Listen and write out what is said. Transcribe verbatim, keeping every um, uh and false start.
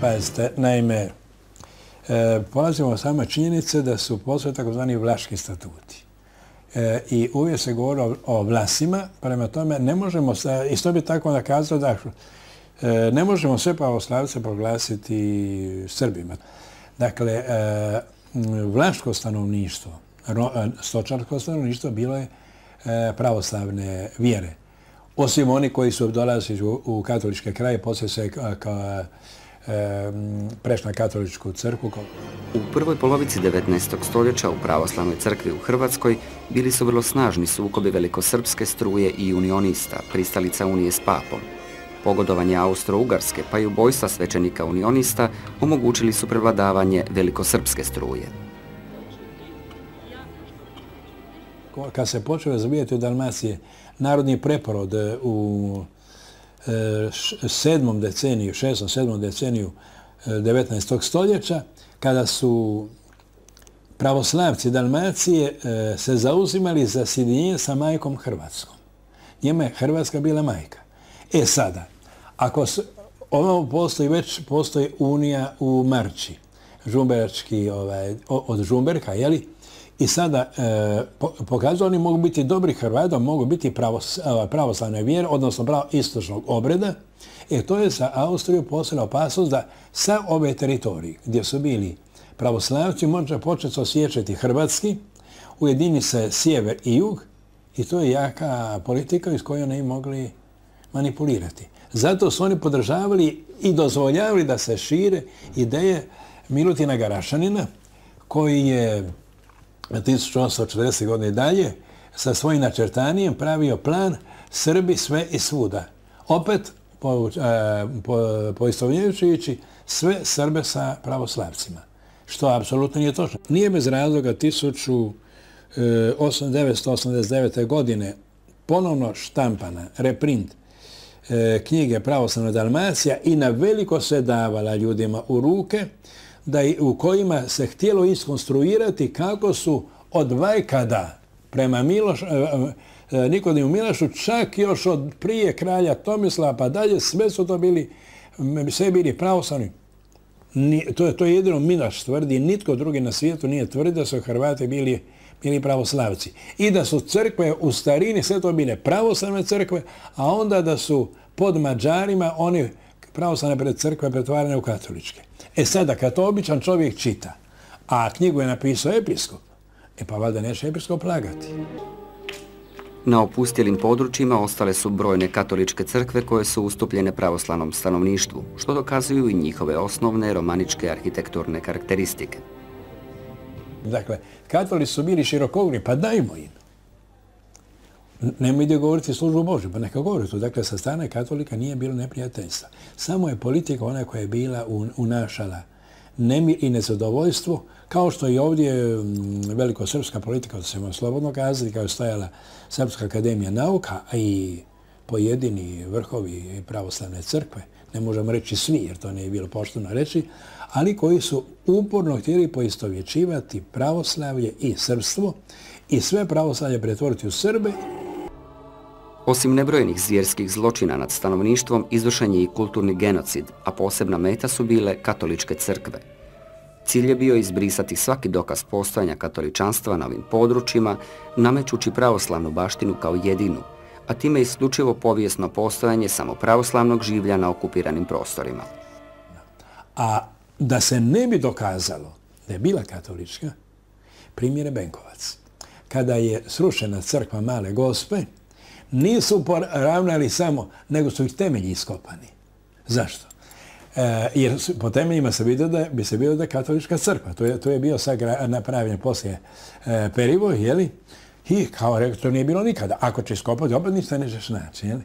Pazite, naime, e, polazimo od same činjenice da su postoje takozvani Vlaški statuti. E, I uvijek se govori o, o Vlasima, prema tome ne možemo, isto bi tako da kazao da e, ne možemo sve pravoslavce proglasiti Srbima. Dakle, e, vlaško stanovništvo, ro, stočarsko stanovništvo bilo je e, pravoslavne vjere. Osim oni koji su dolazili u, u katoličke kraje, poslije se kao prešli na katoličku crkvu. U prvoj polovici devetnaestog stoljeća u pravoslavnoj crkvi u Hrvatskoj bili su vrlo snažni sukobi velikosrpske struje i unionista, pristalica unije s papom. Pogodovanje Austro-Ugarske pa i ubojstva svećenika unionista omogućili su prevladavanje velikosrpske struje. Kad se počeo razvijati u Dalmaciji narodni preporod u sedmom deceniju, šestom, sedmom deceniju devetnaestog stoljeća, kada su pravoslavci Dalmacije se zauzimali za sjedinjenje sa majkom Hrvatskom. Njima je Hrvatska bila majka. E sada, ako ovo postoji, već postoji unija u Marči, žumberački, ovaj, od Žumberka, jeli? I sada e, pokazuju oni mogu biti dobri Hrvati, mogu biti pravos, pravoslavne vjere, odnosno pravo istočnog obreda. E to je za Austriju poslala opasnost da sa ove teritorije gdje su bili pravoslavci može početi osjećati hrvatski, ujedini se sjever i jug i to je jaka politika iz koje oni mogli manipulirati. Zato su oni podržavali i dozvoljavali da se šire ideje Milutina Garašanina koji je tisuću osamsto četrdesetih godine dalje sa svojim načrtanijem pravio plan Srbi sve i svuda. Opet po, po, poistovnjujući sve Srbe sa pravoslavcima, što apsolutno nije točno. Nije bez razloga tisuću devetsto osamdeset devete. godine ponovno štampana, reprint knjige Pravoslavna Dalmacija i na veliko se davala ljudima u ruke, da u kojima se htjelo iskonstruirati kako su od vajkada prema Miloš, Nikodimu Milašu, čak još od prije kralja Tomislava pa dalje, sve su to bili, sve bili pravoslavni. To je, to je jedino Milaš tvrdi, nitko drugi na svijetu nije tvrdi da su Hrvati bili, bili pravoslavci. I da su crkve u starini sve to bile pravoslavne crkve, a onda da su pod Mađarima oni pravoslavne crkve pretvarane u katoličke. E sada, kad to običan čovjek čita, a knjigu je napisao episkop, e pa valjda neće episkop lagati. Na opustjelim područjima ostale su brojne katoličke crkve koje su ustupljene pravoslavnom stanovništvu, što dokazuju i njihove osnovne romaničke arhitekturne karakteristike. Dakle, katolici su bili širokogrudni, pa dajmo im. Nemoj ide govoriti službu Božju, pa neka govori to. Dakle, sa strane katolika nije bilo neprijateljstva. Samo je politika ona koja je bila unašala nemir i nezadovoljstvo, kao što i ovdje velikosrpska politika, da se može slobodno kazati, kao je stajala Srpska akademija nauka, a i pojedini vrhovi pravoslavne crkve, ne možemo reći svi, jer to nije bilo pošteno reći, ali koji su uporno htjeli poistovjećivati pravoslavlje i srpstvo i sve pravoslavlje pretvoriti u Srbe. Osim nebrojenih zvjerskih zločina nad stanovništvom, izvršen je i kulturni genocid, a posebna meta su bile katoličke crkve. Cilj je bio izbrisati svaki dokaz postojanja katoličanstva na ovim područjima, namećući pravoslavnu baštinu kao jedinu, a time isključivo povijesno postojanje samo pravoslavnog življa na okupiranim prostorima. A da se ne bi dokazalo da je bila katolička, primjer je Benkovac. Kada je srušena crkva Male Gospe, nisu poravnali samo, nego su ih temelji iskopani. Zašto? E, jer po temeljima se vidio da bi se vidio da je katolička crkva. To je, to je bio sad napravljen poslije e, Perivoj, jeli? I kao rekao, to nije bilo nikada. Ako će iskopati, opet ništa nećeš naći, jeli?